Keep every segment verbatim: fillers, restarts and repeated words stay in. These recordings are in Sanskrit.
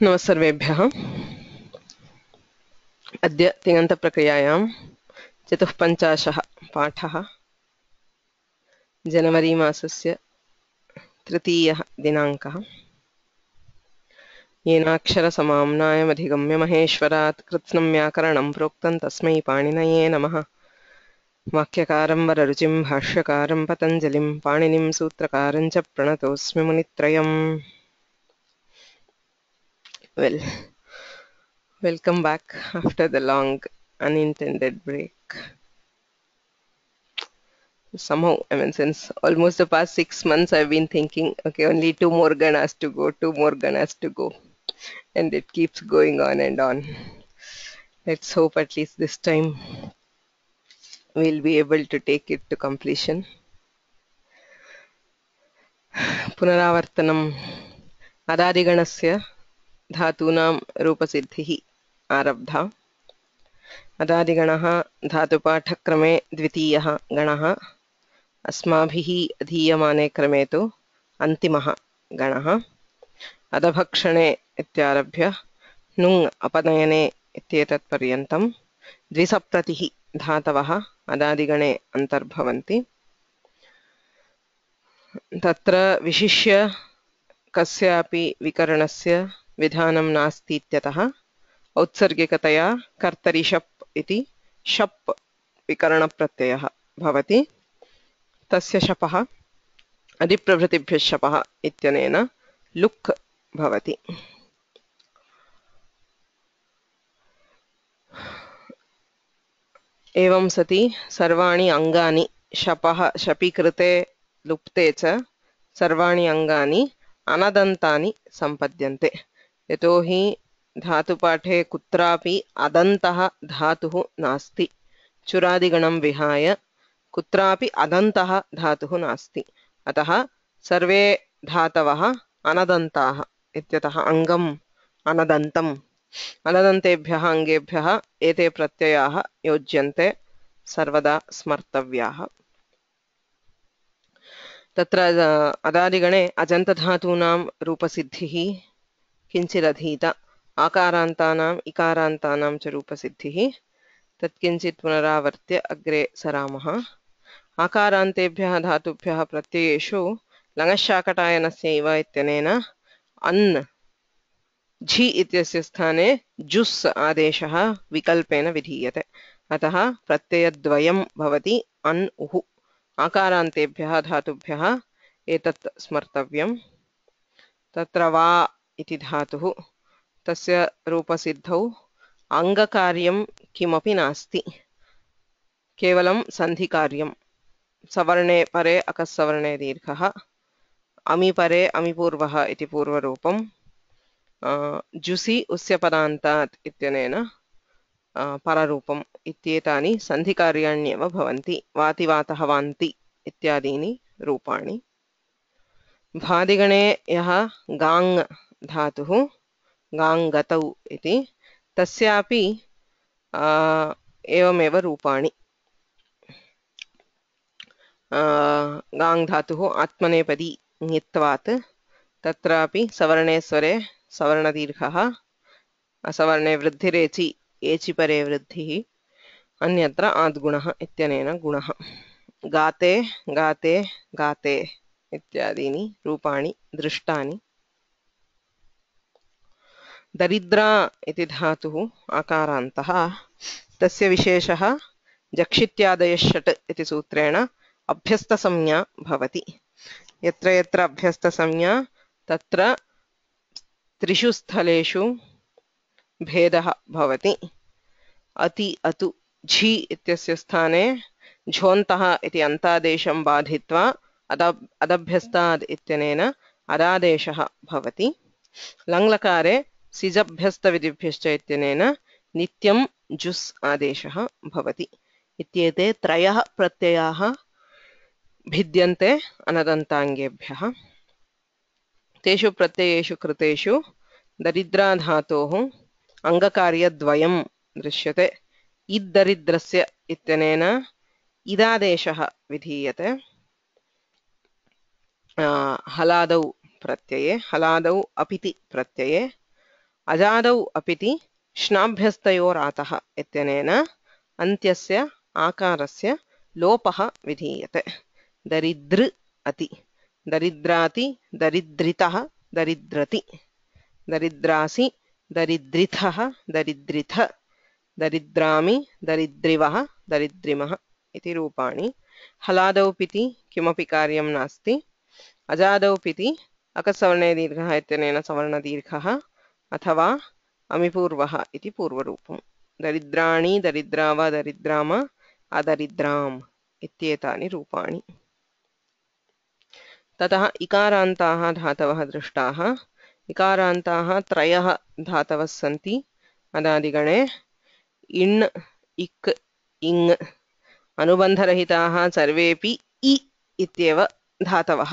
नमः सर्वेभ्यः। अद्य तिङन्तप्रक्रियायां चतुःपञ्चाशः पाठः जनवरी मासस्य तृतीयः दिनाङ्कः। येनाक्षरसमाम्नायमधिगम्य महेश्वरात् कृत्स्नं व्याकरणं प्रोक्तं तस्मै पाणिनये नमः। वाक्यकारं वररुचिं भाष्यकारं पतञ्जलिं पाणिनिं सूत्रकारं च प्रणतोऽस्मि मुनित्रयम्। Well, welcome back after the long unintended break. Somehow, I mean, since almost the past six months, I've been thinking, okay, only two more ganas to go, two more ganas to go. And it keeps going on and on. Let's hope at least this time we'll be able to take it to completion. Punaravartanam Adadiganasya Dhatunam Rupasiddhihi Arabdha. Adadiganaha Dhatupaఠक्रमे द्वितीयः गणः अस्माभिः अधीयमाने क्रमे तु अन्तिमः गणः। अधभक्षणे इत्यारभ्य नुङ् अपनयने इत्येतत् पर्यन्तं द्विसप्ततिः धातवः अदादिगणे अन्तर्भवन्ति। तत्र विशिष्य कस्यापि विकरणस्य विधानं नास्ति इत्यतः औत्सर्गिकतया कर्तरि शप् इति शप् विकरणप्रत्ययः भवति। तस्य शपः अधिप्रभृतिभ्यः शपः इत्यनेन लुक् भवति। एवं सति सर्वाणि अङ्गानि शपः शपीकृते लुप्ते च सर्वाणि अङ्गानि अनदन्तानि सम्पद्यन्ते। यतोहि धातुपाठे कुत्रापि अदन्तः धातुः नास्ति। चुरादिगणं विहाय कुत्रापि अदन्तः धातुः नास्ति। अतः सर्वे धातवः अनदन्ताः इत्यतः अङ्गम् अनदन्तम्। अनदन्तेभ्यः अङ्गेभ्यः एते प्रत्ययाः योज्यन्ते, सर्वदा स्मर्तव्याः। तत्र अदादिगणे अजन्तधातूनां रूपसिद्धिः किञ्चिदधीत। आकारान्तानाम् इकारान्तानां च रूपसिद्धिः तत्किञ्चित् पुनरावर्त्य अग्रे सरामः। आकारान्तेभ्यः धातुभ्यः प्रत्ययेषु लङशाकटायनस्यैव इत्यनेन अन् झि इत्यस्य स्थाने जुस् आदेशः विकल्पेन विधीयते। अतः प्रत्ययद्वयं भवति अन् उः। आकारान्तेभ्यः धातुभ्यः एतत् स्मर्तव्यम्। तत्र वा इति धातुः, तस्य रूपसिद्धौ अङ्गकार्यं किमपि नास्ति, केवलं सन्धिकार्यं। सवर्णे परे अकस्सवर्णे दीर्घः, अमि परे अमिपूर्वः इति पूर्वरूपं, जुसि उस्यपदान्तात् इत्यनेन पररूपम् इत्येतानि सन्धिकार्याण्येव भवन्ति। वाति वातः वान्ति इत्यादीनि रूपाणि। भादिगणे यः गाङ् धातुः गाङ्गतौ इति, तस्यापि एवमेव रूपाणि। गाङ् धातुः आत्मनेपदी ङित्वात्, तत्रापि सवर्णे स्वरे सवर्णदीर्घः, असवर्णे वृद्धिरेचि एचि परे वृद्धिः, अन्यत्र आद्गुणः इत्यनेन गुणः। गाते गाते गाते इत्यादीनि रूपाणि दृष्टानि। दरिद्रा इति धातुः आकारान्तः, तस्य विशेषः जक्षित्यादयः षट् इति सूत्रेण अभ्यस्तसंज्ञा भवति। यत्र यत्र अभ्यस्तसंज्ञा तत्र त्रिषु स्थलेषु भेदः भवति। अति अतु झि इत्यस्य स्थाने झोन्तः इति अन्तादेशं बाधित्वा अदब् अदभ्यस्ताद् इत्यनेन अदादेशः भवति। लङ्लकारे सिजभ्यस्तविधिभ्यश्च इत्यनेन नित्यं जुस् आदेशः भवति। इत्येते त्रयः प्रत्ययाः भिद्यन्ते अनदन्ताङ्गेभ्यः। तेषु प्रत्ययेषु कृतेषु दरिद्राधातोः अङ्गकार्यद्वयं दृश्यते। इद्दरिद्रस्य इत्यनेन इदादेशः विधीयते। हलादौ प्रत्यये हलादौ अपिति प्रत्यये अजादौ अपिति श्नाभ्यस्तयोरातः इत्यनेन अन्त्यस्य आकारस्य लोपः विधीयते दरिद्र अति दरिद्राति दरिद्रितः दरिद्रति दरिद्रासि दरिद्रिथः दरिद्रिथ दरिद्रामि दरिद्रिवः दरिद्रिमः इति रूपाणि हलादौ पिति किमपि कार्यं नास्ति अजादौ पिति अकसवर्णे दीर्घः इत्यनेन सवर्णदीर्घः अथवा अमिपूर्वः इति पूर्वरूपं दरिद्राणि दरिद्राव दरिद्राम अदरिद्राम् इत्येतानि रूपाणि ततः इकारान्ताः धातवः दृष्टाः इकारान्ताः त्रयः धातवः सन्ति अदादिगणे इण् इक् इङ् अनुबन्धरहिताः सर्वेपि इ इत्येव धातवः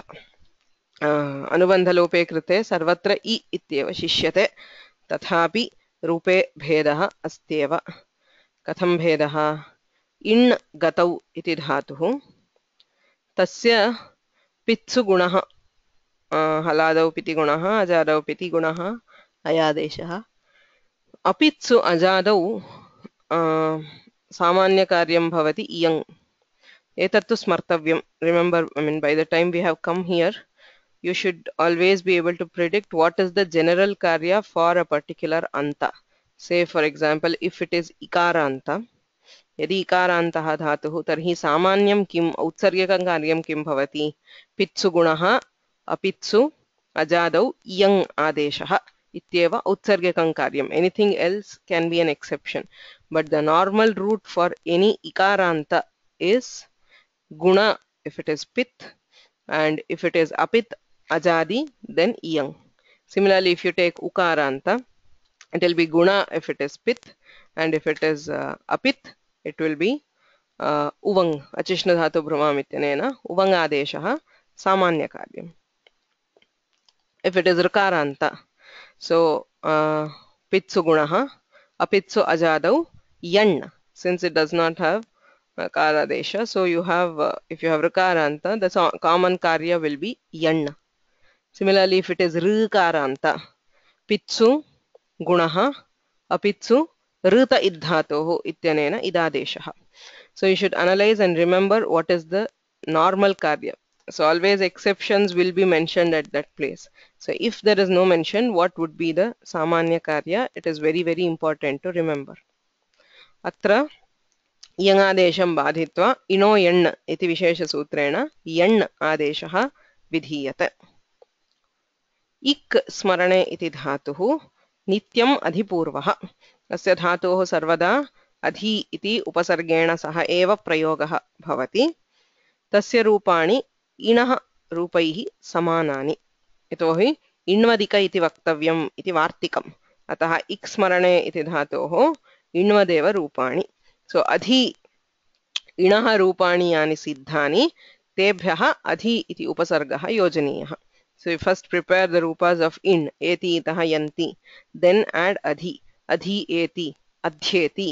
अनुबन्धलोपे कृते सर्वत्र इ इत्येव शिष्यते तथापि रूपे भेदः अस्त्येव कथं भेदः इण् गतौ इति धातुः तस्य पित्सु गुणः हलादौ पिति गुणः अजादौ पिति गुणः अयादेशः अपित्सु अजादौ सामान्यकार्यं भवति इयङ् एतत्तु स्मर्तव्यं remember I mean by the time we have come here you should always be able to predict what is the general karya for a particular anta say for example if it is ikara anta यदि इकारान्तः धातुः तर्हि सामान्यं किम् औत्सर्गिकं कार्यं किं भवति पित्सु गुणः अपित्सु अजादौ इयङ् आदेशः इत्येव औत्सर्गिकं कार्यम् anything else can be an exception but the normal route for any ikaranta is guna if it is pit and if it is apit ajadi then iyang similarly if you take ukaranta it will be guna if it is pit and if it is uh, apit it will be uh, uvang achishna dhatu bhrumam ityanena uvang adeshah samanya karyam if it is rukaranta so uh, pitsu gunah apitsu ajadau yan since it does not have Kara desha. So you have, uh, if you have Rikaranta, the so common karya will be yan. Similarly, if it is Rikaranta, Pitsu Gunaha, Apitsu Rita Idhatoho Ityanena Idadeshaha. So you should analyze and remember what is the normal karya. So always exceptions will be mentioned at that place. So if there is no mention, what would be the Samanya karya? It is very, very important to remember. Atra यङादेशं बाधित्वा इणो यण् इति विशेषसूत्रेण यण् आदेशः विधीयते इक् स्मरणे इति धातुः नित्यम् अधिपूर्वः अस्य धातोः सर्वदा अधि इति उपसर्गेण सह एव प्रयोगः भवति तस्य रूपाणि इणः रूपैः समानानि यतोहि इण्वदिक इति वक्तव्यम् इति वार्तिकम् अतः इक् स्मरणे इति धातोः इण्वदेव रूपाणि So adhi inaha rupani yani siddhani tebhyaha adhi iti upasargaha yojaniyah. So you first prepare the rupas of in eti itaha yanti then add adhi adhi eti adhyeti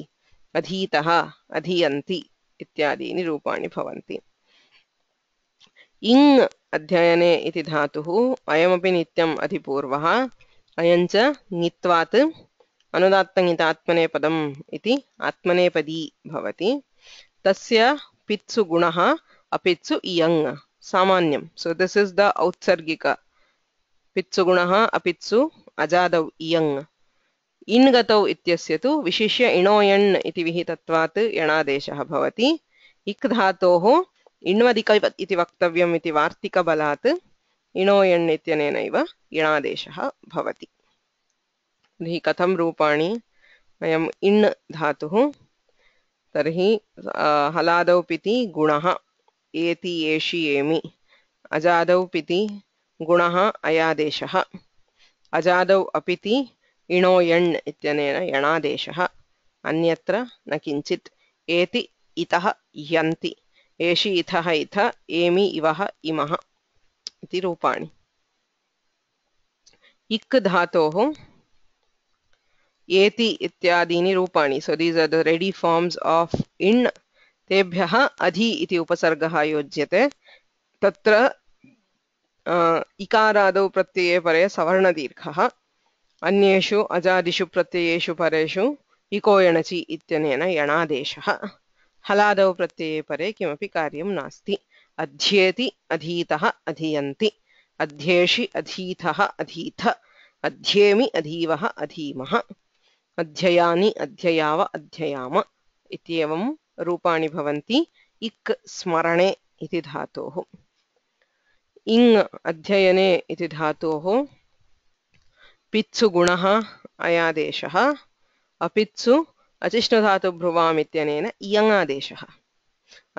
adhitaha adhiyanti ityadini rupani bhavanti. Ing adhyayane iti dhatuhu ayamapi nityam adhipurvaha ayancha nitvat अनुदात्तङितात्मने पदम् इति आत्मनेपदी भवति तस्य पित्सु गुणः अपित्सु इयङ् सामान्यं so this is the औत्सर्गिक पित्सु गुणः अपित्सु अजादौ इयङ् इन् गतौ इत्यस्य तु विशिष्य इणोयण् इति विहितत्वात् यणादेशः भवति इक् धातोः इण्वदिक इति वक्तव्यम् इति वार्तिकबलात् इणोयण् इत्यनेनैव यणादेशः भवति तर्हि कथं रूपाणि वयम् इण् धातुः तर्हि हलादौ पिति गुणः एति एषि एमि अजादौ पिति गुणः अयादेशः अजादौ अपिति इणो यण् इत्यनेन यणादेशः अन्यत्र न किञ्चित् एति इतः यन्ति एषि इथः इथ एमि इवः इमः इति रूपाणि इक् धातोः एति इत्यादीनि रूपाणि so these are the ready forms of in तेभ्यः अधि इति उपसर्गः योज्यते तत्र इकारादौ प्रत्यये परे सवर्णदीर्घः अन्येषु अजादिषु प्रत्ययेषु परेषु इको यणचि इत्यनेन यणादेशः हलादौ प्रत्यये परे किमपि कार्यं नास्ति अध्येति अधीतः अधीयन्ति अध्येषि अधीतः अधीथ अध्येमि अधीवः अधीमः अध्ययानि अध्ययाव अध्ययाम इत्येवं रूपाणि भवन्ति इक् स्मरणे इति धातोः इङ् अध्ययने इति धातोः पित्सु गुणः अयादेशः अपित्सु अचिष्णुधातुभ्रुवाम् इत्यनेन इयङादेशः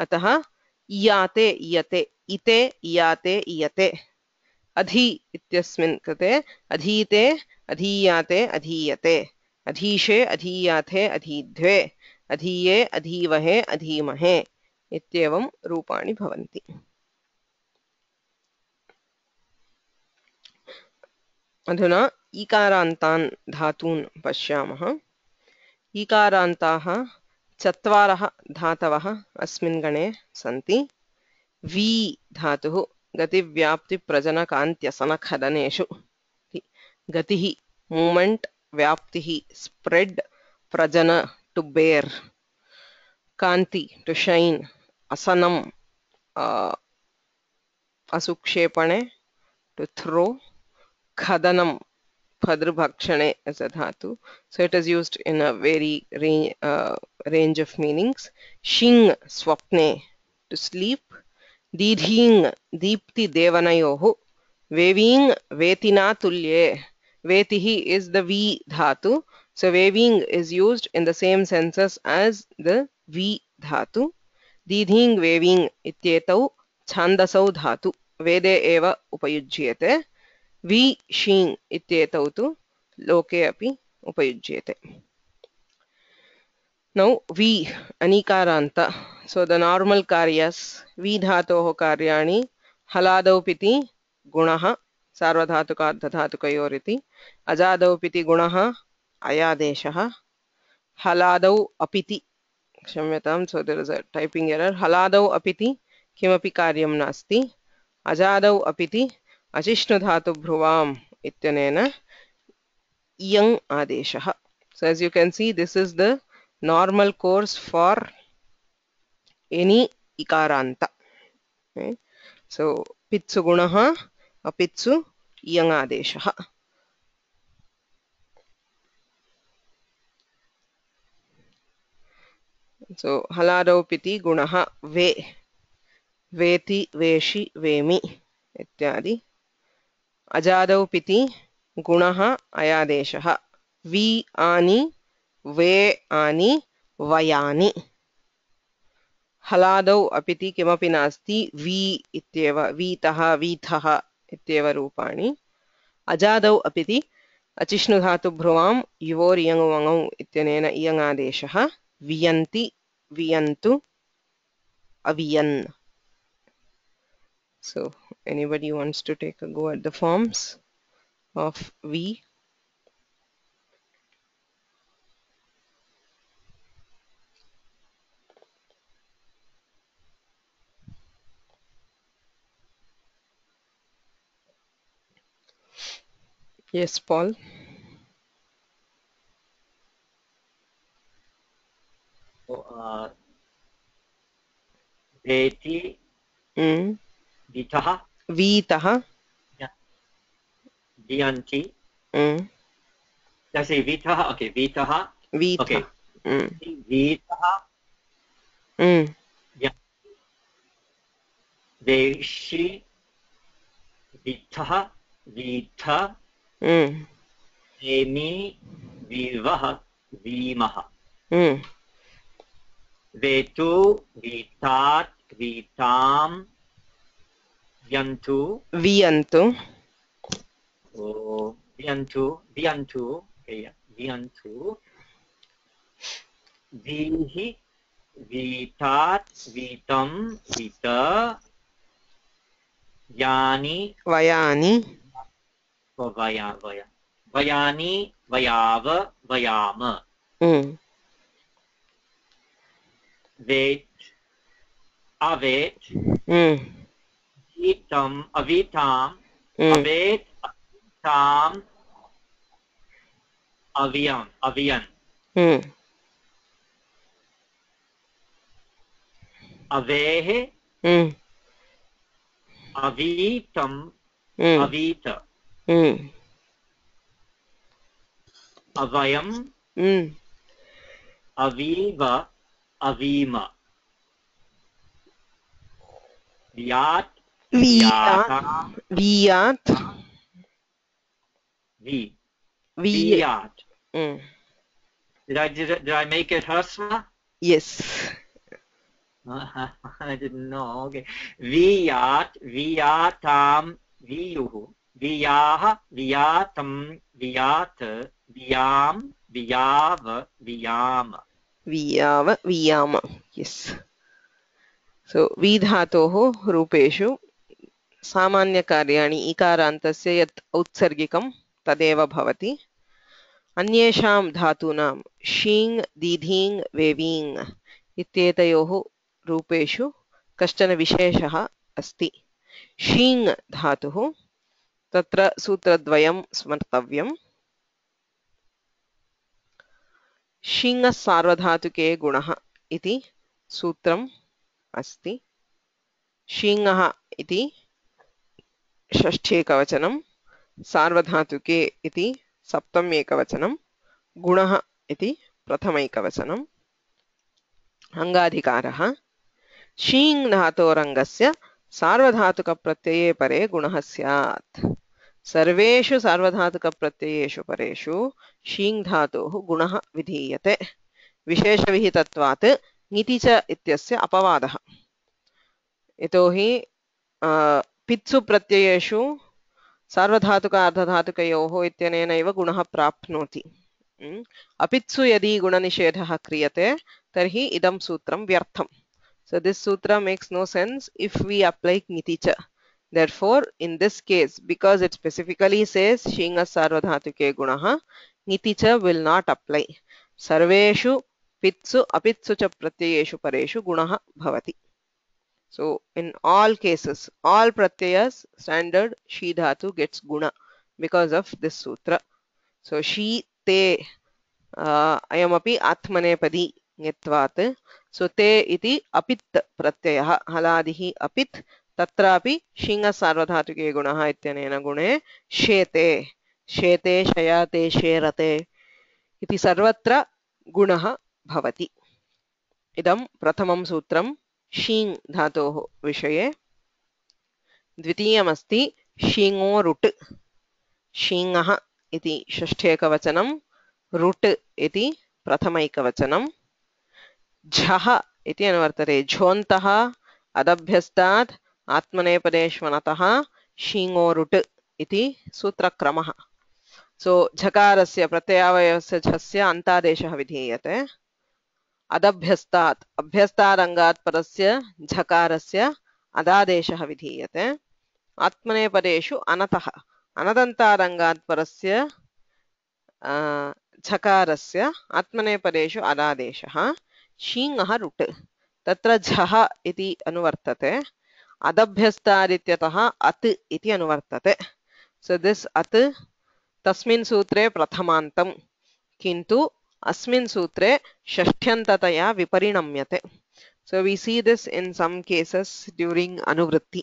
अतः इयाते इयते इते इयाते इयते अधि इत्यस्मिन् कृते अधीते अधीयाते अधीयते अधीशे अधीयाथे अधीध्वे अधीये अधीवहे अधीमहे इत्येवं रूपाणि भवन्ति अधुना ईकारान्तान् धातून् पश्यामः ईकारान्ताः चत्वारः धातवः अस्मिन् गणे सन्ति वी धातुः गतिव्याप्तिप्रजनकान्त्यसनखदनेषु गतिः मूमेंट व्याप्तिः स्प्रेड प्रजन टू बेर कांति टू शाइन असनम असुक्षेपणे टू थ्रो खदनम फद्रभक्षणे as a dhatu so it is used in a very range, uh, range of meanings shing swapne to sleep didhing deepti devanayoh veving vetina tulye vetihi is the v dhatu so veving is used in the same senses as the v dhatu didhing veving ityetau छान्दसौ धातु वेदे एव उपयुज्येते वि शीङ् इत्येतौ तु लोके अपि उपयुज्येते नौ वि अनीकारान्त so the normal karyas वि धातोः कार्याणि हलादौ पिति गुणः सार्वधातुकार्धधातुकयोरिति अजादौ पिति गुणः अयादेशः हलादौ अपिति क्षम्यतां so there is a typing error हलादौ अपिति किमपि कार्यं नास्ति अजादौ अपिति अचिष्णुधातुभ्रुवाम् इत्यनेन इयङ् आदेशः so as you can see this is the normal course for any ikaranta okay? so pitsu gunah apitsu इयङ् आदेशः so हलादौ पिति गुणः वे वेति वेषि वेमि इत्यादि अजादौ पिति गुणः अयादेशः वि आनि वे आनि वयानि हलादौ अपिति किमपि नास्ति वि इत्येव वीतः वीथः इत्येव रूपाणि अजादौ अपिति अचिष्णुधातुभ्रुवां युवोरियङुवङौ इत्यनेन इयङादेशः वियन्ति वियन्तु अवियन् so anybody wants to take a go at the forms of V? Yes, Paul. So, uh, veti, mm. vitah, vitah, dianti. mm. Let's say vitah. Okay, vitah. Vitah. Okay. Mm. Vitah. Mm. Yeah. Veshi, vitah, vita. Mm. Vemi, vivah, vimah. Mm. Vetu, vitat, vitam, viantu. Viantu. Oh, viantu, viantu. Okay, yeah. Viantu. Vihi, vitat, vitam, vita. Yani. Vayani. Oh, vaya, vaya. Vayani, vayava, vayama. Mm. Vet, avet, mm. अवीतम् अवीताम् mm, अवेत् ताम् अवियम् अवियन् mm, अवेः mm, अवीतम् mm, अवीत mm, अवयम् mm. Aviv अवीम व्यात् Viyat, व्याताम् viyat, V vi. वियात् Mm. did I did, I- did I make it hrasva? Yes. I didn't know. Okay. Viyat, viyatam, viyuhu, viyaha, viyatam, viyat, viyam, viyav, viyam. Viyava, viyama. Yes. So, vidhatoः रूपेषु सामान्यकार्याणि इकारान्तस्य यत् औत्सर्गिकं तदेव भवति। अन्येषां धातूनां शीङ् दीधीङ् वेवीङ् इत्येतयोः रूपेषु कश्चन विशेषः अस्ति। शीङ् धातुः तत्र सूत्रद्वयं स्मर्तव्यम्। शीङः सार्वधातुके गुणः इति सूत्रम् अस्ति। शीङः इति षष्ठ्येकवचनं, सार्वधातुके इति सप्तम्येकवचनं, गुणः इति प्रथमैकवचनम्। अङ्गाधिकारः शीङ् धातोरङ्गस्य सार्वधातुकप्रत्यये परे गुणः स्यात्। सर्वेषु सार्वधातुकप्रत्ययेषु परेषु शीङ् धातोः गुणः विधीयते। विशेषविहितत्वात् ङिति च इत्यस्य अपवादः। यतोहि पित्सु प्रत्ययेषु सार्वधातुक अर्धधातुकयोः इत्यनेनैव गुणः प्राप्नोति। अपित्सु यदि गुणनिषेधः क्रियते तर्हि इदं सूत्रं व्यर्थम्. So this sutra makes no sense if we apply ङिति च. Therefore, in this case, because it specifically says shinga sarvadhatuke gunaha, ङिति च will not apply. Sarveshu pitsu apitsu cha pratyayeshu pareshu gunaha bhavati. So in all cases, all pratyayas, standard shi dhatu gets guna because of this sutra. So shi te uh, ayamapi atmanepadi ङत्वात्. So te iti apit pratyayah haladihi apit तत्रापि शीङ सार्वधातुके गुणः इत्यनेन गुणे शेते शेते शयाते शेरते इति सर्वत्र गुणः भवति। इदं प्रथमं सूत्रं शीङ् धातोः विषये। द्वितीयमस्ति शीङो रुट्। शीङः इति षष्ठेकवचनं, रुट् इति प्रथमैकवचनं। झः इति अनुवर्तते। झोन्तः अदभ्यस्तात् आत्मनेपदेष्वनतः शीङो रुट् इति सूत्रक्रमः। सो झकारस्य प्रत्ययावयवस्य झस्य अन्तादेशः विधीयते। अदभ्यस्तात् अभ्यस्तादङ्गात् परस्य झकारस्य अदादेशः विधीयते। आत्मनेपदेषु अनतः अनदन्तादङ्गात् परस्य झकारस्य आत्मनेपदेषु अदादेशः। शीङः रुट् तत्र झः इति अनुवर्तते। अदभ्यस्तादित्यतः अत् इति अनुवर्तते। सो दिस् अत् तस्मिन् सूत्रे प्रथमान्तं, किन्तु अस्मिन् सूत्रे षष्ठ्यन्ततया विपरिणम्यते. So we see this in some cases during anuvritti.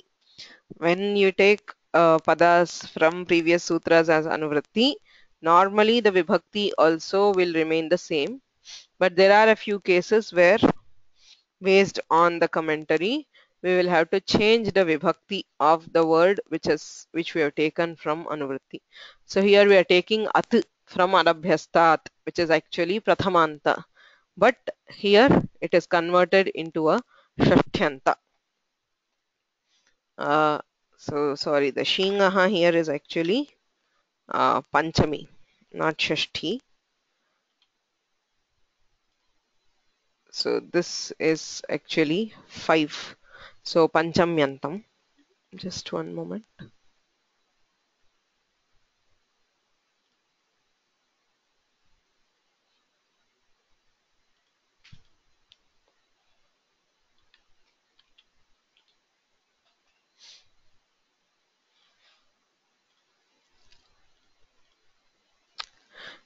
When you take uh, padas from previous sutras as anuvritti, normally the vibhakti also will remain the same. But there are a few cases where, based on the commentary, we will have to change the vibhakti of the word which is which we have taken from anuvritti. So here we are taking at from adabhyastat, which is actually prathamanta, but here it is converted into a shashtyanta. Uh, so sorry, the shingaha here is actually uh, panchami, not shashti. So this is actually five. So panchamyantam. Just one moment.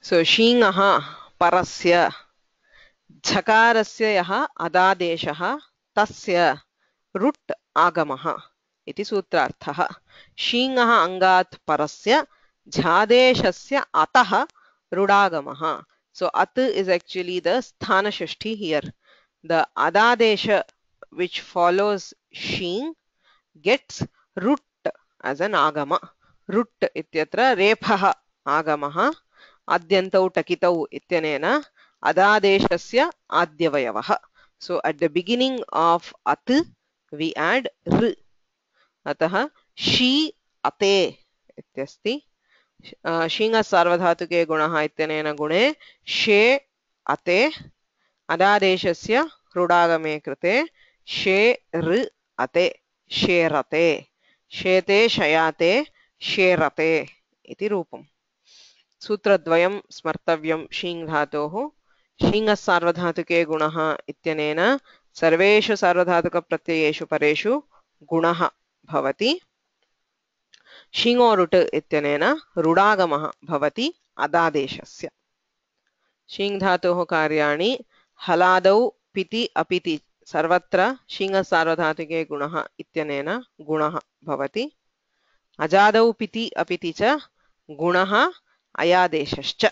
So शीङः परस्य झकारस्य यः अदादेशः तस्य रुट् आगमः इति सूत्रार्थः. शीङः अङ्गात् परस्य झादेशस्य अतः रुडागमः. So at is actually the sthana shashti here. The adadesha which follows shing gets rut as an agama. Rut ityatra repha agamaha adyantau takitau ityanena adadeshasya adyavayavaha. So at the beginning of at we add r. Ataha she ate ityasti. शीङ सार्वधातुके गुणः इत्यनेन गुणे शे अते अदादेशस्य रुडागमे कृते शे ऋ अते शेरते शेते शयाते शेरते इति रूपम्. सूत्रद्वयं स्मर्तव्यं शीङ धातोः. शीङ सार्वधातुके गुणः इत्यनेन सर्वेषु सार्वधातुकप्रत्ययेषु परेषु गुणः भवति. शीङोरुट् इत्यनेन रुडागमः भवति अदादेशस्य. शीङ धातोः कार्याणि हलादौ पिति अपिति सर्वत्र शीङ सार्वधातुके गुणः इत्यनेन गुणः भवति. अजादौ पिति अपिति च गुणः अयादेशश्च.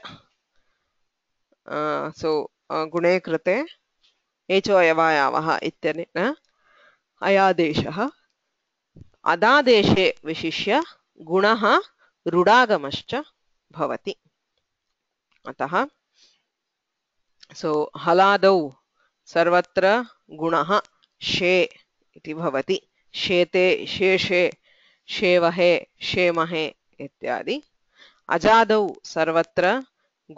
सो गुणे कृते एचो अयवायावः इत्यनेन अयादेशः. अदादेशे विशिष्य गुणः रुडागमश्च भवति. अतः सो हलादौ सर्वत्र गुणः शे इति भवति. शेते शेषे शेवहे शेमहे इत्यादि. अजादौ सर्वत्र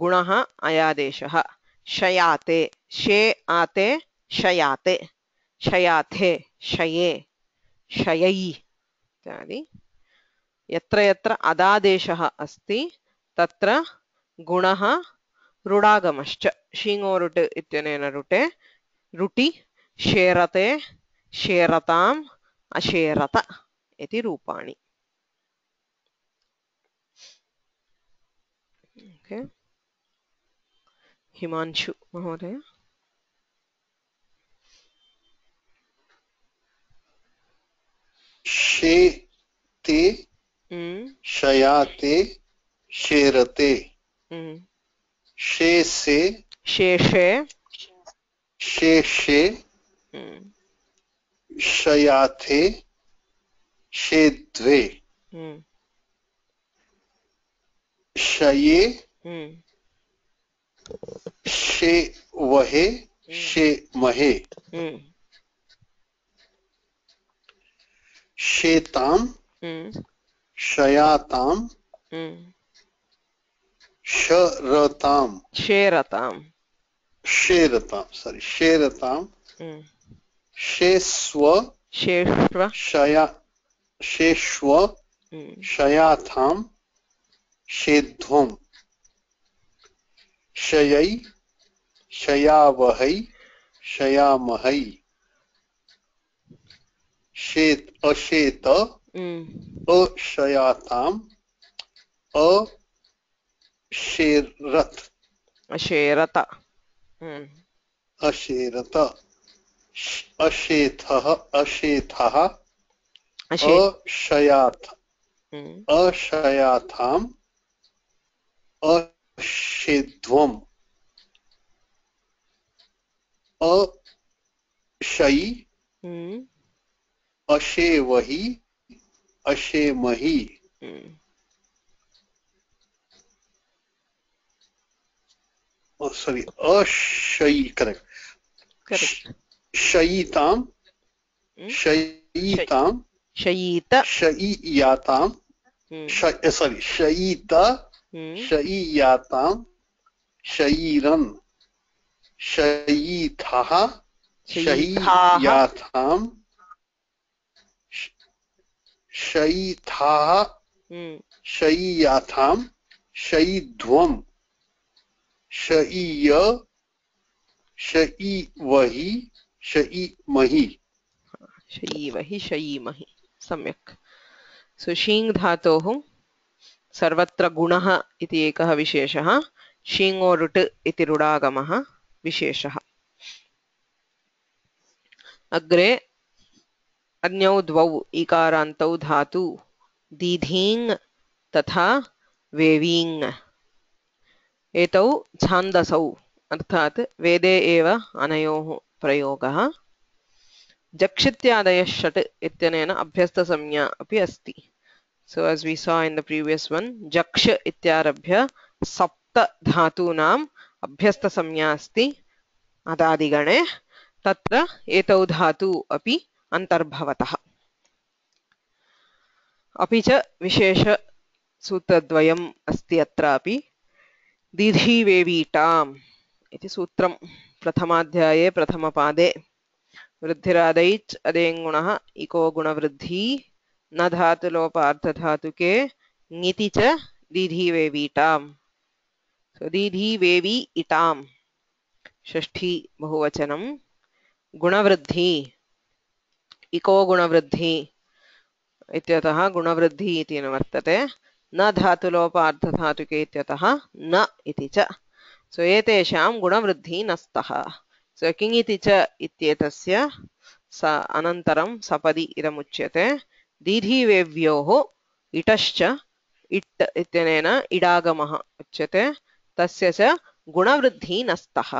गुणः अयादेशः. शयाते शे आते शयाते शयाथे शये शयै इत्यादि. यत्र यत्र अदादेशः अस्ति तत्र गुणः रुडागमश्च. शीङोरुट् इत्यनेन रुटे रुटि शेरते शेरताम् अशेरत इति रूपाणि. okay. हिमांशु महोदय. शेते शयाते शेरते शेषे शेषे शेषे शयाथे शेद्वे शये शेवहे शेमहे शेताम शयाताम शरताम शेरताम शेरताम सॉरी शेरताम शेस्व शेष्व शया शेष्व शयाथाम शेध्वम शयै शयावहै शयामहै शेत अशेत अशयाताम अशेरत अशेरत अशेरत अशेथः अशेथः अशयाथ अशयाथाम अशेध्वम अशयि अशेवहि अशेमहि सॉरी अशयि करेक्ट शयिताम शयिताम शयीत शयियाताम सॉरी शयित शयियाताम शयीरन शयीथः शयियाथाम शयिथाः शयियाथाम शयिध्वम शयिय शयिवहि शयिमहि शयीवहि शयीमहि. सम्यक्. सो शीङ् धातोः सर्वत्र गुणः इति एकः विशेषः. शीङोरुट् इति रुडागमः विशेषः। अग्रे अन्यौ द्वौ इकारान्तौ धातु दीधीङ् तथा वेवीङ् एतौ छान्दसौ अर्थात् वेदे एव अनयोः प्रयोगः। जक्षित्यादयः षट् इत्यनेन अभ्यस्तसंज्ञा अपि अस्ति। So as we saw in the previous one, jaksh ityarabhya sapta धातूनाम् अभ्यस्तसंज्ञा अस्ति अदादिगणे तत्र एतौ धातु अपि अन्तर्भवतः। अपि च विशेषसूत्रद्वयम् अस्ति अत्रापि। दीधीवेवीटाम् इति सूत्रं प्रथमाध्याये प्रथमपादे वृद्धिरादैच् अदेङ्गुणः इको गुणवृद्धि न धातुलोपार्थधातुके ङिति च दीधीवेवीटाम्। So दीधीवेवी इटाम् षष्ठी बहुवचनं। गुणवृद्धि इको गुणवृद्धि इत्यतः गुणवृद्धि इति न वर्तते। न धातुलोपार्थधातुके इत्यतः न इति च। सो एतेषां गुणवृद्धि नस्तः। सो किङिति च इत्येतस्य स अनन्तरं सपदि इदमुच्यते। दीधीवेव्योः इटश्च इट् इत्यनेन इडागमः उच्यते तस्य च गुणवृद्धि नस्तः।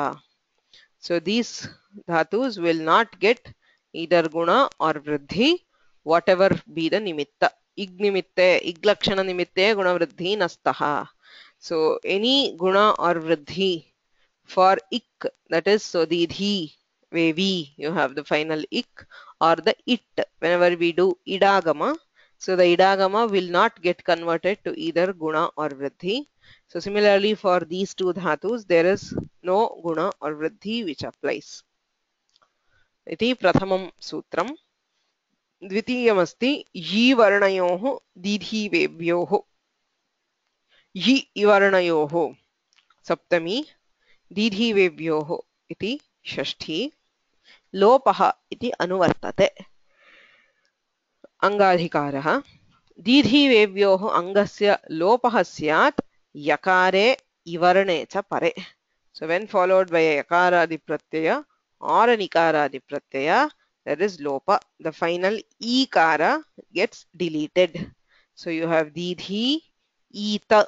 So these dhatus will not get either guna or vruddhi, whatever be the nimitta. Ig nimitte, ig lakshana nimitte guna vruddhi nastaha. So any guna or vruddhi for ik, that is so the dhi, vevi, you have the final ik, or the it, whenever we do idagama. So the idagama will not get converted to either guna or vruddhi. So similarly for these two dhatus there is no guna or vruddhi which applies. इति प्रथमं सूत्रं। द्वितीयमस्ति यि वर्णयोः दीधीवेव्योः। यि इवर्णयोः सप्तमी, दीधीवेव्योः इति षष्ठी। लोपः इति अनुवर्तते अङ्गाधिकारः। दीधीवेव्योः अङ्गस्य लोपः स्यात् यकारे इवर्णे च परे। So when followed by a yakaradi pratyaya or an ikaradi pratyaya, there is lopa. The final ikara gets deleted. So you have didhi ita.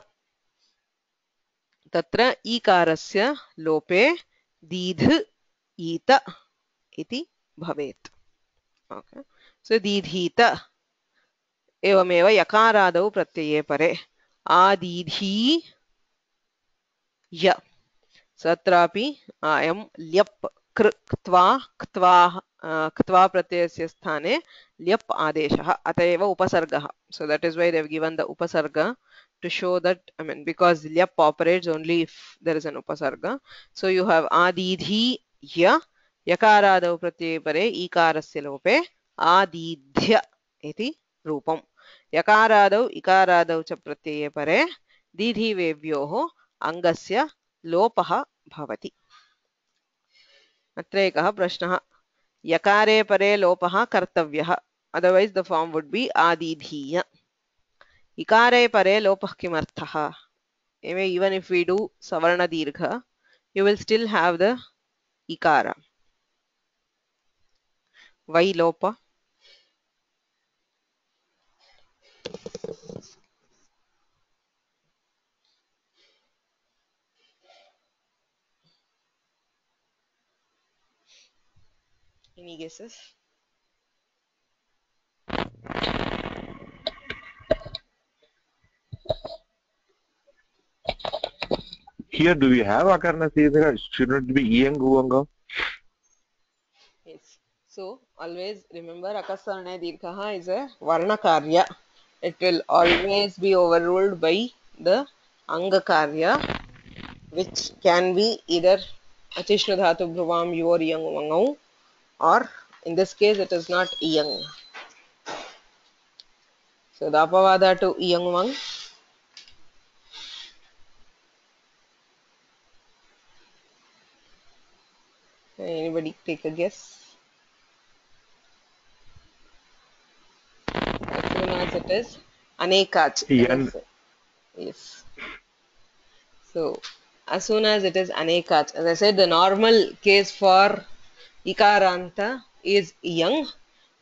Tatra ikarasya lope didh ita iti bhavet. Okay. So didhita evameva yakaradau pratyaya pare adidhi ya. सत्रापि अयं ल्यप् कृ क्त्वा क्त्वा क्त्वा प्रत्ययस्य स्थाने ल्यप् आदेशः अत एव उपसर्गः. So that is why they have given the upasarga to show that, I mean, because ल्यप् operates only if there is an upasarga. So you have adidhi ya yakaradau pratyaya pare ikarasya lope adidhya iti रूपम्. यकारादौ इकारादौ च प्रत्यये परे दीधीवेव्योः अङ्गस्य लोपः भवति। अत्र एकः प्रश्नः। यकारे परे लोपः कर्तव्यः, otherwise the form would be आदिधीय। इकारे परे लोपः किमर्थः? Even if we do savarna dirgha, you will still have the ikara. Why lopa? Any guesses? Here, do we have akarna siddha? Shouldn't it be iyang uvanga? Yes. So always remember akasarne dirgha is a varna karya. It will always be overruled by the anga karya, which can be either achishnu dhatu bhruvam yor iyang uvangau, or in this case it is not iyang. So the apavada to iyang uvang. Anybody take a guess? As soon as it is anekach. Yan. Yes. So as soon as it is anekach. As I said, the normal case for ikaranta is young.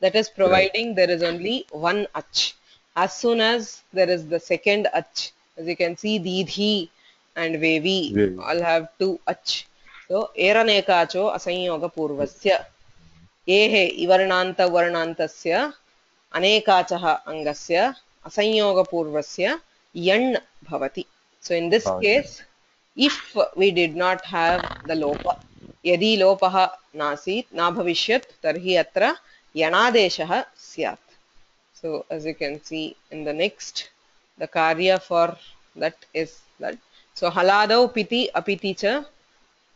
That is providing there is only one ach. As soon as there is the second ach, as you can see, didhi and vevi Vevi. all have two ach. So, eranekacho asanyoga purvasya. Ehe ivarnanta varnantasya अनेकाचः अङ्गस्य असंयोगपूर्वस्य यण् भवति. So in this case, if we did not have the lopa, यदि लोपः नासीत् न भविष्यत् तर्हि अत्र यणादेशः स्यात्. So as you can see in the next, the karya for that is that. So haladau piti apiti cha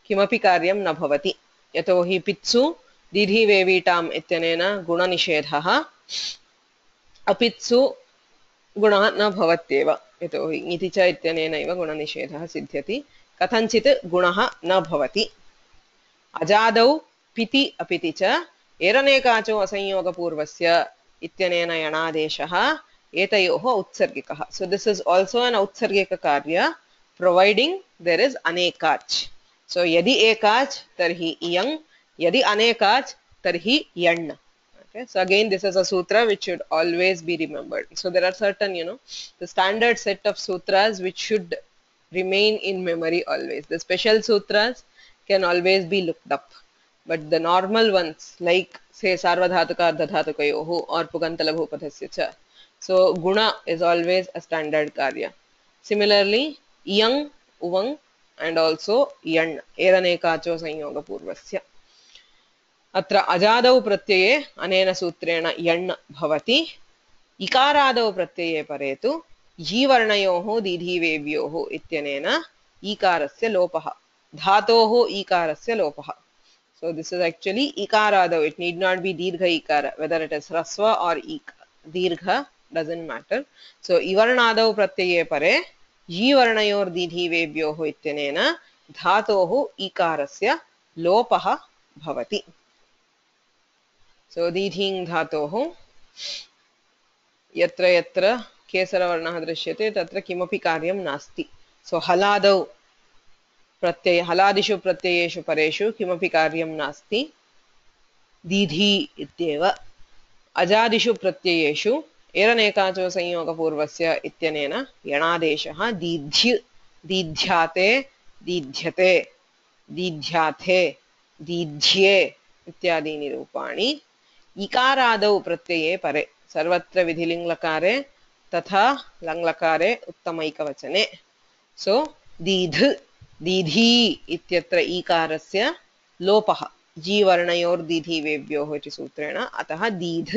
किमपि कार्यं न भवति यतोहि पित्सु दीर्घि वेवीटाम् इत्यनेन गुणनिषेधः अपित्सु गुणः न भवत्येव यतोहि इति च इत्यनेनैव गुणनिषेधः सिद्ध्यति कथञ्चित् गुणः न भवति अजादौ पिति अपिति च एरनेकाचो असंयोगपूर्वस्य इत्यनेन यणादेशः एतयोः उत्सर्गिकः. So this is also an उत्सर्गिक कार्य providing there is anekach. So यदि एकach tarhi iyang, यदि anekach tarhi yan. Okay, so again this is a sutra which should always be remembered. So there are certain, you know, the standard set of sutras which should remain in memory always. The special sutras can always be looked up, but the normal ones like say sarvadhatuka ardhadhatukayoh or pugantalabhupadhasya cha. So guna is always a standard karya. Similarly, yang, uvang and also yan eranekacho sanyoga purvasya. अत्र अजादौ प्रत्यये अनेन सूत्रेण यण् भवति इकारादौ प्रत्यये परे तु जीवर्णयोः दीर्घिवेव्योः इत्यनेन ईकारस्य लोपः धातोः ईकारस्य लोपः. So this is actually ikaradau. It need not be dirgha ikara, whether it is rasva or ik. Dirgha doesn't matter. So ivarnadau pratyaye pare जीवर्णयोर् दीर्घिवेव्योः इत्यनेन धातोः ईकारस्य लोपः भवति. So दीर्घिङ् धातोः यत्र यत्र केसरवर्णः दृश्यते तत्र किमपि कार्यं नास्ति. So हलादौ प्रत्यय हलादिषु प्रत्ययेषु परेषु किमपि कार्यं नास्ति दीर्घि इत्येव. अजादिषु प्रत्ययेषु एरनेकाचो संयोगपूर्वस्य इत्यनेन यणादेशः दीर्घ्य दीर्घ्याते दीर्घ्यते दीर्घ्याथे दीर्घ्ये इत्यादीनि रूपाणि इकारादौ प्रत्यये परे सर्वत्र विधिलिङ्लकारे तथा लङ्लकारे उत्तमैकवचने. सो दीर्घ दीर्घी इत्यत्र ईकारस्य लोपः जीवर्णयोर्दीर्घिवेव्योः इति सूत्रेण. अतः दीर्घ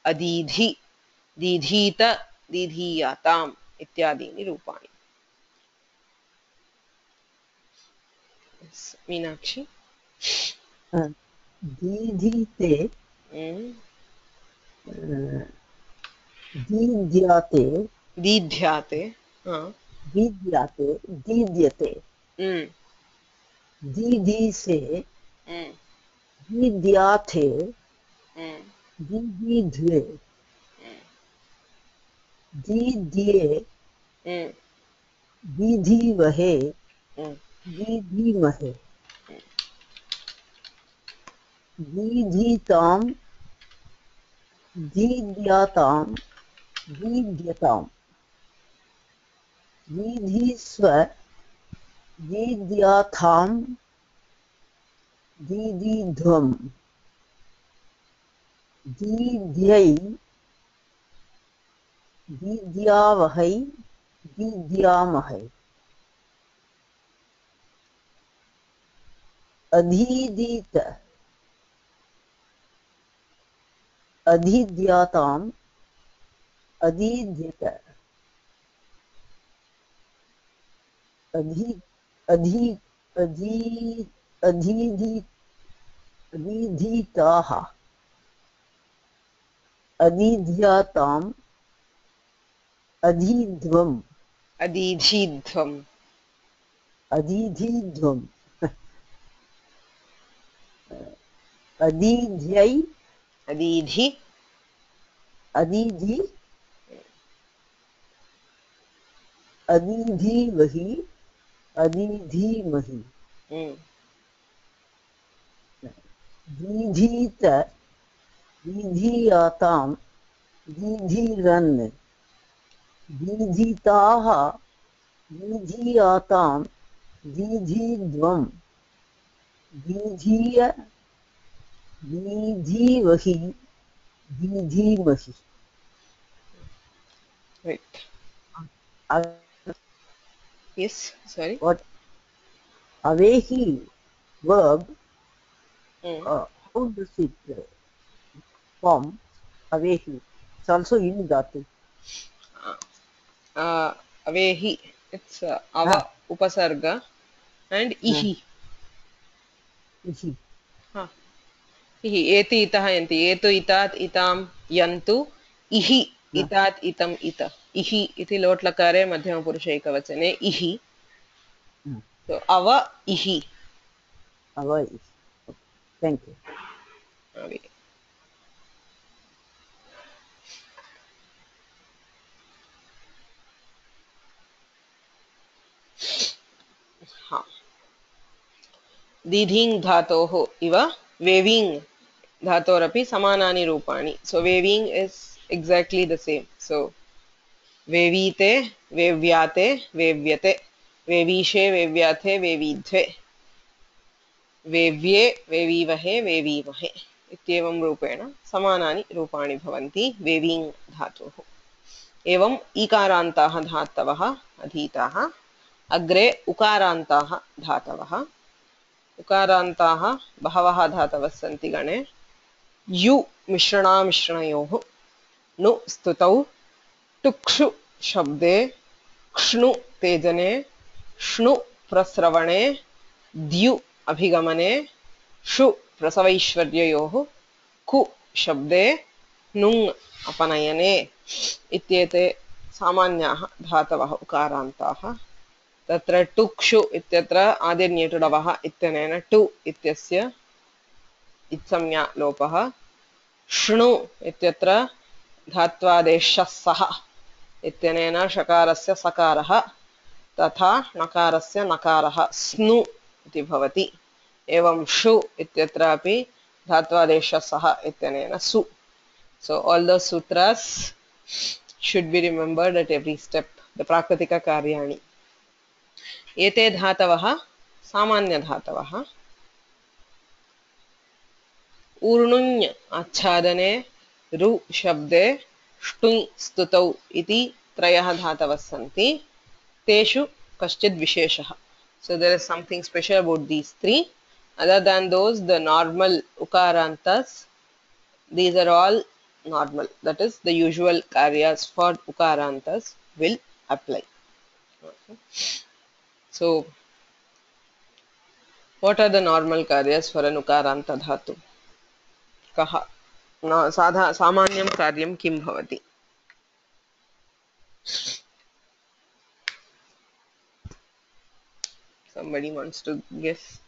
अदीधि दीधीत दीधीयाताम् इत्यादीनि रूपाणि. मीनाक्षी दीधीते दीद्याते दीध्याते दीद्याते दीद्यते दीधीसे दीद्याथे दीदीध्वे दीद्ये दीधीवहे दीधीमहे दीधीताम् दीद्याताम् दीद्यताम् दीधीस्व दीद्याथाम् दीदीध्वम् दीद्यै दीद्यावहै दीद्यामहै अधीदीत अधीद्याताम् अधीद्यत अधि अधि अधि अधीधि अधीधीताः अधीध्याताम् अधीध्वम् अदीधीध्वम् अधीधीध्वम् अधीध्यै अदीधि अधीधि अधीधीवहि अधिधीमहि Hmm. दीधीत दीधीयातां दीधीरन् दीधीताः दीधीयातां दीधीद्वं दीधीय दीधीवहि दीधीमहि Right. A- Yes. Sorry. what Avehi verb, Hmm. uh, how does it uh, form? Avehi. It's also in Dhatu. Uh, Avehi. It's uh, Ah, ava upasarga and ah, ihi. ihi. Huh. Ihi. Eti itah yanti. Etu itat itam yantu. Ihi Ah, itat itam ita. Ihi iti lotlakare madhyama purusha ekavachane. Ihi. ah, So ava ihi. Avai. Okay. Thank you. Ave. Ha. दीधिङ् धातोः इव वेविङ् धातोरपि समानानि रूपाणि. So वेविङ् is exactly the same. So वेवीते वेव्याते वेव्यते वेवीशे वेव्याथे वेवीध्वे वेव्ये वेवीवहे वेवीमहे इत्येवं रूपेण समानानि रूपाणि भवन्ति वेविङ् धातोः. एवम् ईकारान्ताः धातवः अधीताः. अग्रे उकारान्ताः धातवः. उकारान्ताः बहवः धातवः सन्ति गणे. यु मिश्रणामिश्रणयोः नु स्तुतौ टुक्षु शब्दे क्ष्णु तेजने श्नु प्रस्रवणे द्यु अभिगमने षु प्रसवैश्वर्ययोः कु शब्दे नुङ् अपनयने इत्येते सामान्याः धातवः उकारान्ताः. तत्र टुक्षु इत्यत्र आदिर्निटुडवः इत्यनेन टु इत्यस्य इत्संज्ञा लोपः. श्नु इत्यत्र धात्वादेशः सः इत्यनेन षकारस्य सकारः तथा नकारस्य नकारः स्नु इति भवति. एवं षु इत्यत्रापि धात्वादेशः सः इत्यनेन सु. So all those sutras should be remembered at every step. The Prakritika Karyani. एते धातवः सामान्यधातवः. ऊर्णुञ् आच्छादने रु शब्दे ष्टुञ् स्तुतौ इति त्रयः धातवः सन्ति. तेषु कश्चित् विशेषः. So there is something special about these three. Other than those, the normal ukarantas, these are all normal. That is, the usual karyas for ukarantas will apply. Okay. So, what are the normal karyas for an ukaranta dhatu? कः न साधा सामान्यं कार्यं किं भवति? Somebody wants to guess?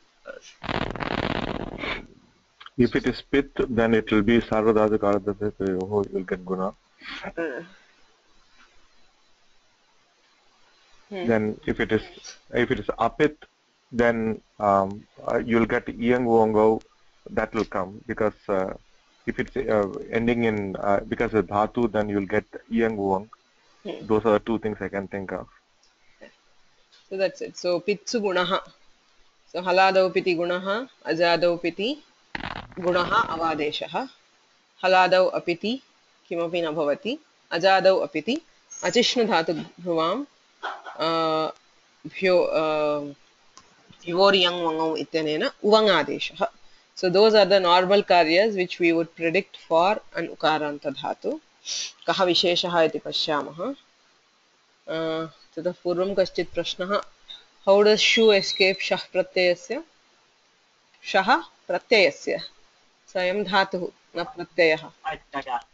If it is pit, then it will be sarvadhatu karadhatu, you will get guna. Uh, hmm. Then if it is if it is apit, then um, uh, you will get iyang vongo, that will come because uh, if it's uh, ending in uh, because of dhatu, then you will get iyang vong. Hmm. Those are the two things I can think of. So that's it. So pitsu gunaha. So haladau piti gunaha, ajadau piti gunaha avadeshah. Haladau apiti kimapi na bhavati. Ajadau apiti achishnu dhatu bhuvam uh, भ्यो Vivoriyang Vangau Ityanena Uvangadeshah. So those are the normal karyas which we would predict for an ukaranta dhatu. Kaha visheshah iti pashyamah. Uh, Tata purvam kaschit prashnah. How does shu escape shah pratyayasya? Shah pratyayasya. Sayam dhatu na pratyayah. I think I got.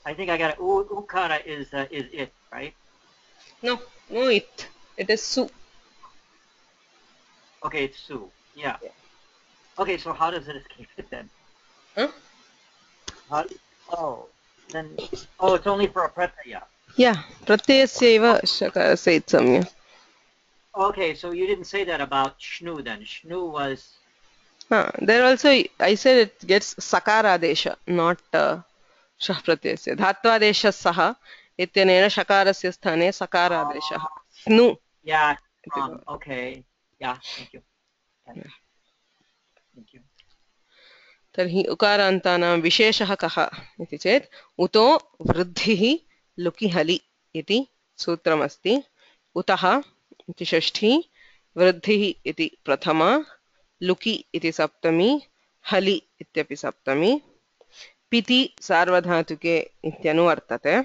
I think I got it. U- Ukara is uh, is it, right? No, no it. It is su. Okay, it's su. Yeah. Yeah. Okay, so how does it escape it then? Huh? How, oh, then oh, it's only for a pratyaya. Yeah, pratyayasya eva shakarasya itsamya. Okay, so you didn't say that about shnu then. Shnu was Huh. There also, I said it gets sakaradesha, not uh, shah pratyasya. Dhatvadesha saha ityanena shakarasya sthane sakaradesha. Snu. yeah. इति Um. भवति. Okay. Yeah. Thank you. Yeah. Yeah. Thank you. तर्हि उकारान्तानां विशेषः कः इति चेत् उतो वृद्धिः लुकि हलि इति सूत्रमस्ति. उतः इति षष्ठी, वृद्धिः इति प्रथमा, लुकि इति सप्तमी, हलि इत्यपि सप्तमी. पिति सार्वधातुके इत्यनुवर्तते.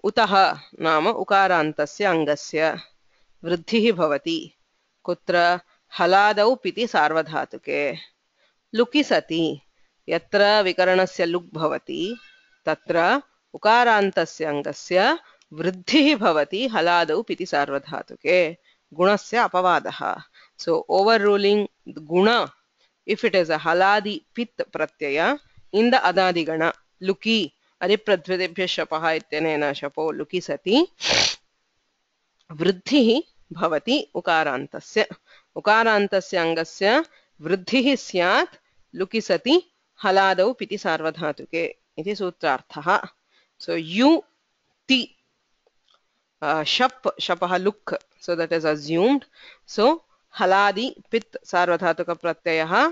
उतः नाम उकारान्तस्य अङ्गस्य वृद्धिः भवति कुत्र हलादौ पिति सार्वधातुके. लुकि सति यत्र विकरणस्य लुक् भवति तत्र उकारान्तस्य अङ्गस्य वृद्धिः भवति हलादौ पिति सार्वधातुके गुणस्य अपवादः. So overruling guna if it is a haladi pit pratyaya in the adadigana luki adipradvyatebhya shapah ityanena shapo luki sati वृद्धिः भवति उकारान्तस्य. उकारान्तस्य अङ्गस्य वृद्धिः स्यात् लुकि सति हलादौ पिति सार्वधातुके इति सूत्रार्थः. So you ti uh, shap shapah luk, so that is assumed. So haladi pit sarvadhatuka pratyayah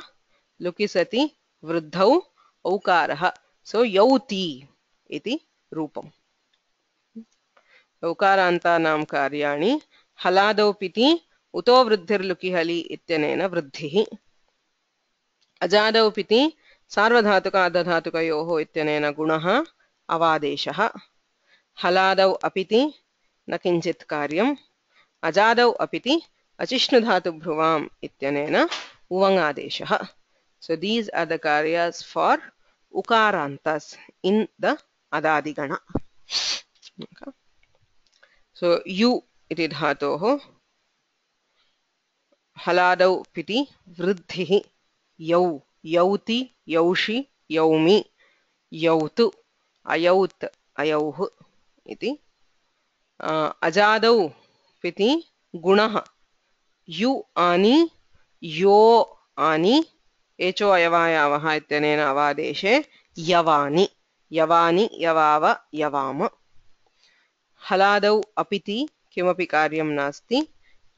luki sati vruddhau aukarah. So yauti iti rupam. उकारान्तानां कार्याणि हलादौ पिति उतो वृद्धिर्लुकि हलि इत्यनेन वृद्धिः. अजादौ पिति सार्वधातुक अर्धधातुकयोः इत्यनेन गुणः अवादेशः. हलादौ अपिति न किञ्चित् कार्यम्. अजादौ अपिति अचिष्णुधातुभ्रुवाम् इत्यनेन उवङादेशः. So these are the karyas for ukarantas in the adadigana. Okay. So you iti dhatoh हलादौ पिति वृद्धिः यौ यौति यौषि यौमि यौतु अयौत् अयौः इति. अजादौ पिति गुणः यु आनि यो आनि एचो अयवायावः इत्यनेन अवादेशे यवानि यवानि यवाव यवाम. हलादौ अपिति किमपि कार्यं नास्ति.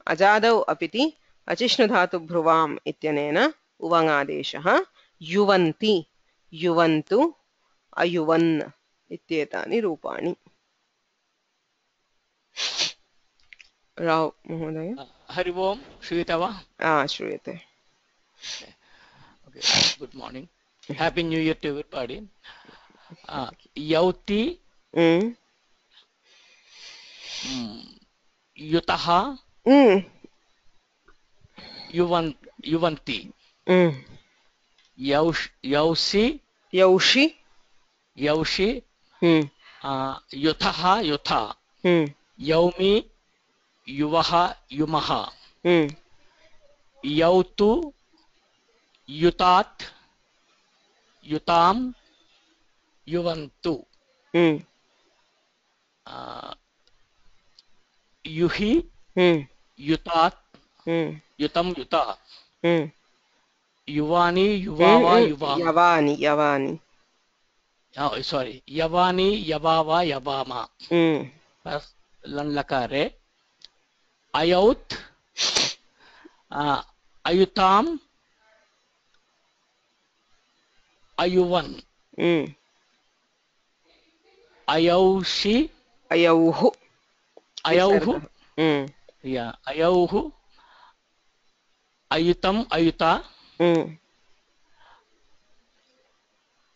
अजादौ अपिति अचिष्णुधातुभ्रुवाम् इत्यनेन उवङादेशः. युवन्ति युवन्तु अयुवन् इत्येतानि रूपाणि. राव महोदय. हरि ओम श्रूयते वा? आ श्रूयते. Okay, good morning. Happy New Year to everybody. Uh, Yauti, Mm. mm, Yutaha, Mm. Yuvan, Yuvanti, Mm. Yaush, Yausi, यौषि. Yaushi, Mm. uh, Yutaha, Yutha, Mm. Yaumi, Yuvaha, Yumaha, Mm. Yautu, Yutat, Yutam, Yuvantu, Mm. uh, Yuhi, Mm. Yutat, Mm. Yutam, Yuta, Mm. Yuvani, Yuvava, Mm. Yuvama. यवानि यवानि. Oh, sorry. Yavani, Yavava, Yavama. Mm. First, lan lakare. Ayaut, uh, Ayutam, Ayuvan, Mm. Ayaushi, अयौः. Ayauhu, Mm. yeah, Ayauhu, Ayutam, Ayuta, Mm.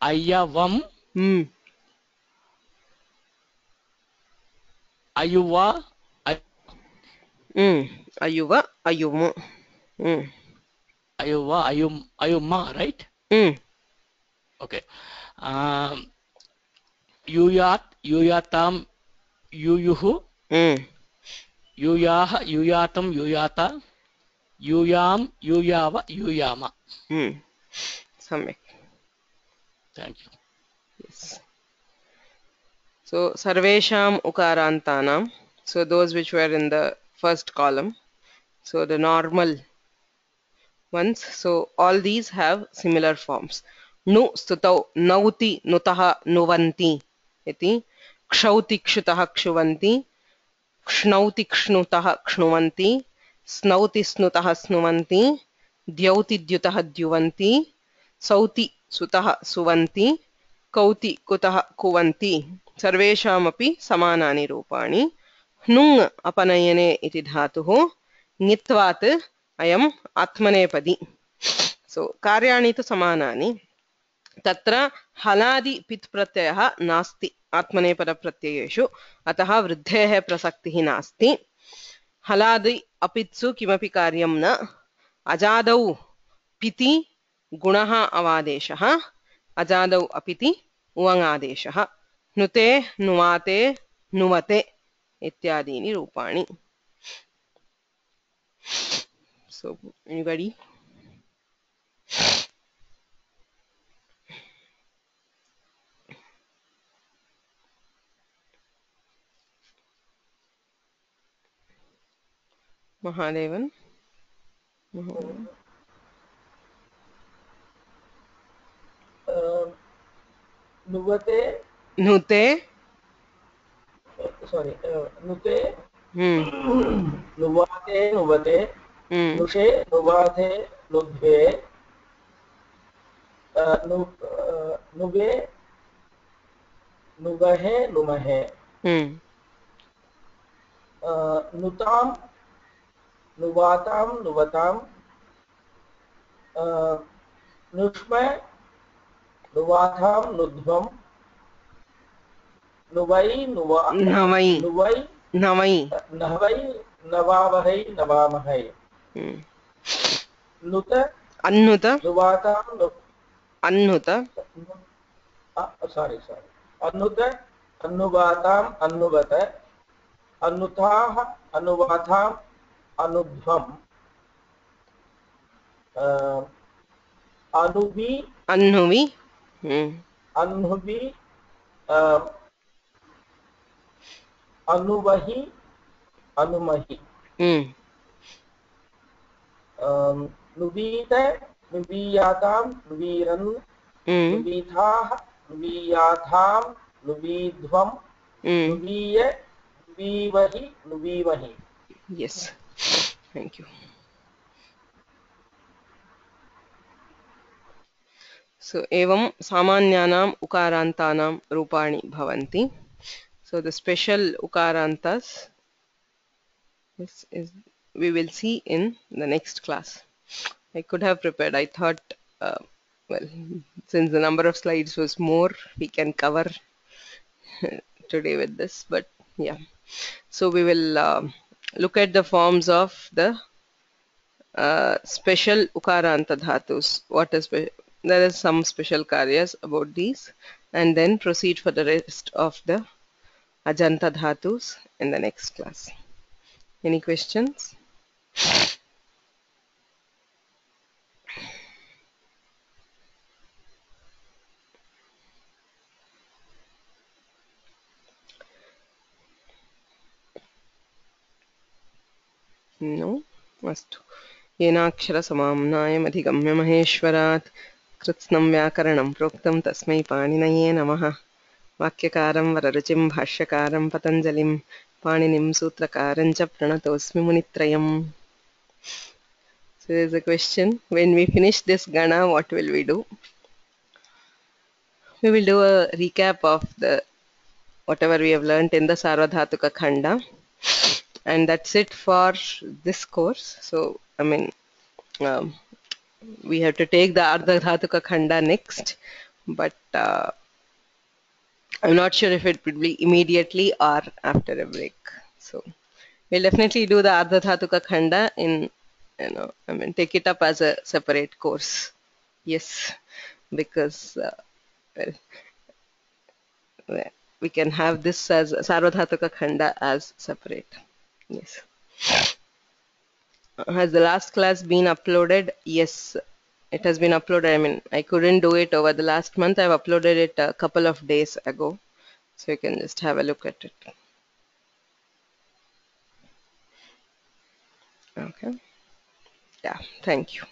Ayavam, Mm. Ayuva, Ay- Mm. अयुव अयुम. Mm. Ayuva, Ayum, Ayuma, right? Mm. Okay. Um, Yuyat, Yuyatam, Yuyuhu, Mm. Yuyaha, Yuyatam, Yuyata, Yuyam, Yuyava, Yuyama. Mm. सम्यक्. Thank you. Yes. So sarvesham ukarantanam, so those which were in the first column. So the normal ones. So all these have similar forms. Nu stutau nauti nutaha nuvanti iti, kshauti kshutaha kshuvanti, क्ष्णौति क्ष्णुतः क्ष्णुवन्ति, स्नौति स्नुतः स्नुवन्ति, द्यौति द्युतः द्युवन्ति, Sauti सुतः सुवन्ति, कौति कुतः कुवन्ति. सर्वेषामपि समानानि रूपाणि. ह्नुङ् अपनयने इति धातुः ङित्वात् अयम् आत्मनेपदी. सो कार्याणि तु समानानि. तत्र हलादि पित् प्रत्ययः नास्ति आत्मनेपदप्रत्ययेषु, अतः वृद्धेः प्रसक्तिः नास्ति. हलादि अपित्सु किमपि कार्यं न. अजादौ पिति गुणः अवादेशः, अजादौ अपिति उवङादेशः. नुते नुवाते नुवते इत्यादीनि रूपाणि. So anybody? Mahadevan? Mahadevan? Uh, Nuvate, Nute? sorry, uh, Nute, Hmm. Nuvate, Nuvate, Hmm. Nushe, Nuvate, Nudve, uh, nu, uh, Nuve, Nuvahe, Numahe, Hmm. uh, Nutam, Nuvatam, Nuvatam, uh, Nushma, Nuvatham, Nudvam, Nuvai, Nuva, Navai. Nuvai, Navai. Navai, Navavahai, Navamahai, Hmm. Nuta, Annuta? Nuvatam, Nu, Annuta? uh, sorry, sorry, Anuta, Anuvatam, Anuvata, Anutah, Anuvatham, Anudvam, uh, Anuvi, Annuvi? Hmm. Anuvi, uh, Anuvahi, Anumahi, Hmm. um, Nuvita, Nuviyatam, Nuviran, Hmm. Nuvithah, Nuviyatham, Nuvidhvam, Hmm. Nuviya, Nuvivahi, Nuvivahi. Yes. Thank you. So evam samanyanam ukarantanam rupani bhavanti. So the special ukarantas this is we will see in the next class. I could have prepared. I thought, uh, well, since the number of slides was more, we can cover today with this. But yeah, so we will um look at the forms of the uh, special ukaranta dhatus. What is spe- there is some special karyas about these, and then proceed for the rest of the ajanta dhatus in the next class. Any questions? No? Astu. येनाक्षरसमाम्नायमधिगम्य महेश्वरात् कृत्स्नं व्याकरणं प्रोक्तं तस्मै पाणिनये नमः. वाक्यकारं वररुचिं भाष्यकारं पतञ्जलिं पाणिनिं सूत्रकारं च प्रणतोऽस्मि मुनित्रयम्. So there is a question. When we finish this Gana, what will we do? We will do a recap of the whatever we have learnt in the Sarvadhatuka Khanda. And that's it for this course. So, I mean, um, we have to take the Ardhadhatuka Khanda next, but uh, I'm not sure if it would be immediately or after a break. So, we'll definitely do the Ardhadhatuka Khanda in, you know, I mean, take it up as a separate course. Yes, because uh, well, we can have this as Sarvadhatuka Khanda as separate. Yes. Has the last class been uploaded? Yes, it has been uploaded. I mean, I couldn't do it over the last month. I've uploaded it a couple of days ago. So you can just have a look at it. Okay. Yeah, thank you.